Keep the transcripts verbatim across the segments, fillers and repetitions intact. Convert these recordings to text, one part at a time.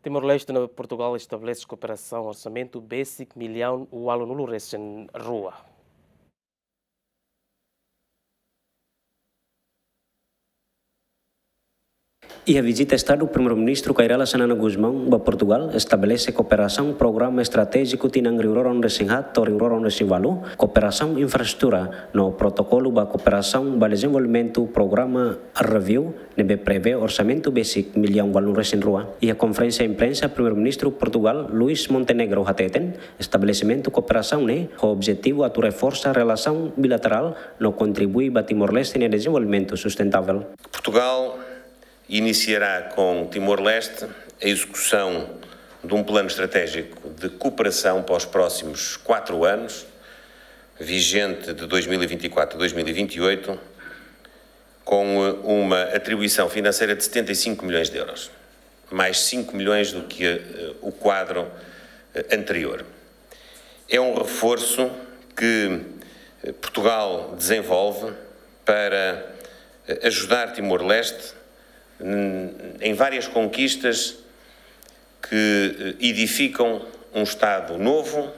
Timor-Leste no Portugal estabelese kooperasaun orsamentu besik millaun ualunulu resin rua. Iha vizita Estadu, Primeiru-Ministru Kay Rala Xanana Gusmão ba Portugal estabelese kooperasaun programa estratéjiku tinan rihun rua ruanulu resin haat to'o rihun rua ruanulu resin ualu, kooperasaun infraestrutura no protokolu ba kooperasaun ba dezenvolvimentu, programa review ne'ebé prevee orsamentu besik millaun ualunulu resin rua. Iha konferénsia imprensa, Primeiru-Ministru Portugal, Luís Montenegro, hateten estabelesimentu kooperasaun ne'e ho objetivu atu reforsa relasaun bilaterál no kontribui ba Timor-Leste nia dezenvolvimentu sustentável. Portugal iniciará com Timor-Leste a execução de um plano estratégico de cooperação para os próximos quatro anos, vigente de dois mil e vinte e quatro a dois mil e vinte e oito, com, eh, uma atribuição financeira de setenta e cinco milhões de euros, mais cinco milhões do que, eh, o quadro, eh, anterior. É um reforço que, eh, Portugal desenvolve para, eh, ajudar Timor-Leste, hum, em várias conquistas que, eh, edificam um Estado novo,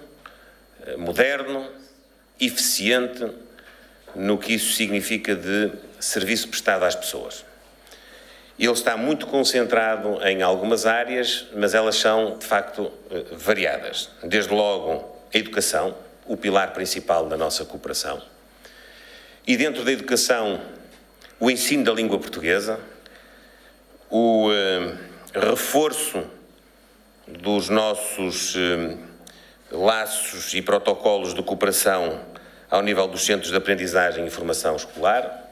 eh, moderno, eficiente no que isso significa de serviço prestado às pessoas. Ele está muito concentrado em algumas áreas, mas elas são, de facto, eh, variadas. Desde logo, a educação, o pilar principal da nossa cooperação. E dentro da educação, o ensino da língua portuguesa, o, eh, reforço dos nossos, eh, laços e protocolos de cooperação ao nível dos Centros de Aprendizagem e Formação Escolar,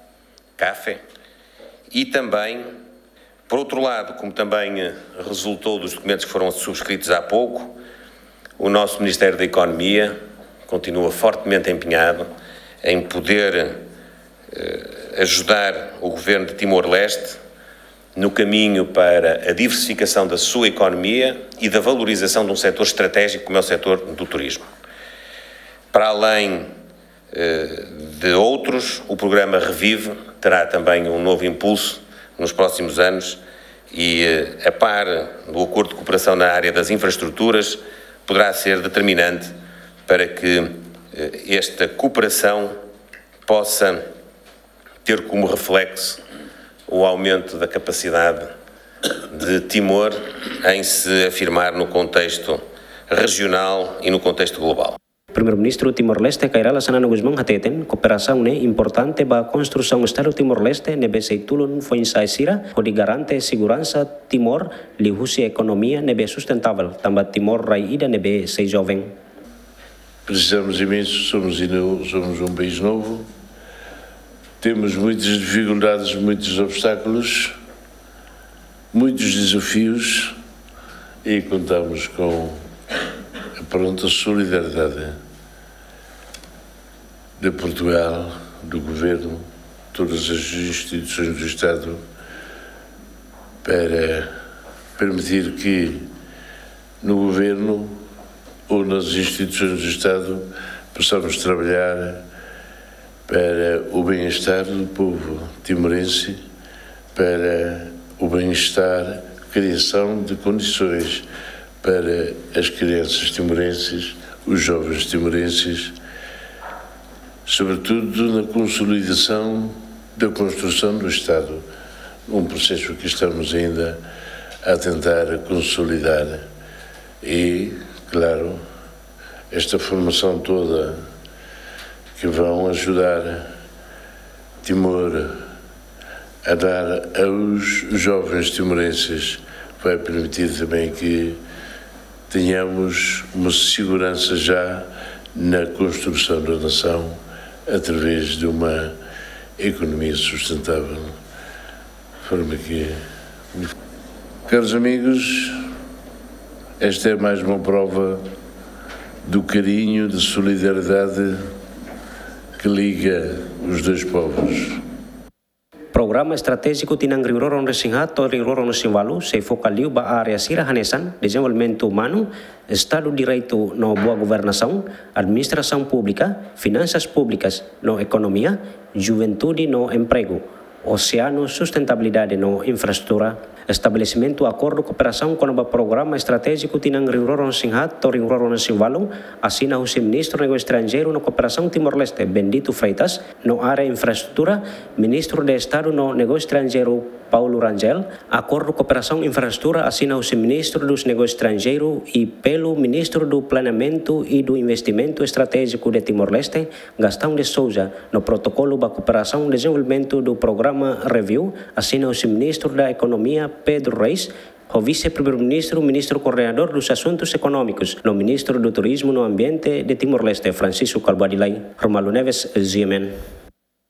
CAFE, e também, por outro lado, como também, eh, resultou dos documentos que foram subscritos há pouco, o nosso Ministério da Economia continua fortemente empenhado em poder, eh, ajudar o governo de Timor-Leste no caminho para a diversificação da sua economia e da valorização de um setor estratégico como é o setor do turismo. Para além, eh, de outros, o programa Revive terá também um novo impulso nos próximos anos e, eh, a par do acordo de cooperação na área das infraestruturas, poderá ser determinante para que, eh, esta cooperação possa ter como reflexo o aumento da capacidade de Timor em se afirmar no contexto regional e no contexto global. Primeiru-Ministru Timor-Leste, Kay Rala Xanana Gusmão, hateten kooperasaun ne'e importante ba konstrusaun Estadu Timor-Leste ne'ebé sei tulun foin-sa'e sira hodi garante seguransa Timor liuhusi ekonomia ne'ebé sustentável, tanba Timor rai ida ne'ebé sei joven. Precisamos imenso, somos ainda, somos um país novo, temos muitas dificuldades, muitos obstáculos, muitos desafios e contamos com a pronta solidariedade de Portugal, do governo, todas as instituições do Estado, para permitir que no governo ou nas instituições do Estado possamos trabalhar para o bem-estar do povo timorense, para o bem-estar, criação de condições para as crianças timorenses, os jovens timorenses, sobretudo na consolidação da construção do Estado, um processo que estamos ainda a tentar consolidar. E, claro, esta formação toda que vão ajudar Timor a dar aos jovens timorenses vai permitir também que tenhamos uma segurança já na construção da nação através de uma economia sustentável. De forma que, caros amigos, esta é mais uma prova do carinho, da solidariedade que liga os dois povos. Programa estratéjiku tinan rihun rua ruanulu resin haat to'o rihun rua ruanulu resin ualu sei foka liu ba área sira hanesan dezenvolvimentu umanu, Estadu Direitu no boa governasaun, administrasaun públika, finansas públikas no ekonomia, juventude no empregu, oseanu, sustentabilidade no infraestrutura. Estabelesimentu akordu kooperasaun kona-ba programa estratéjiku tinan rihun rua ruanulu-resin-haat to'o rihun rua ruanulu-resin-ualu, asina husi Ministru Negósiu Estranjeiru no Kooperasaun Timor-Leste, Bendito Freitas, no área infraestrutura, Ministru de Estadu no Negósiu Estranjeiru, Paulo Rangel. Akordu kooperasaun infraestrutura asina husi Ministru dos Negósius Estranjeiru i pelu Ministru do Planeamentu i do Investimentu Estratéjiku de Timor-Leste, Gastão de Sousa, no protokolu ba kooperasaun dezenvolvimentu do programa Review, asina husi Ministru da Ekonomia, Pedro Reis, ho Vise-Primeiru-Ministru, Ministru Koordenadór dos Asuntus Ekonómikus, no Ministru do Turizmu no Ambiente de Timor-Leste, Francisco Kalbuadi Lay. Romualdo Neves, G M N.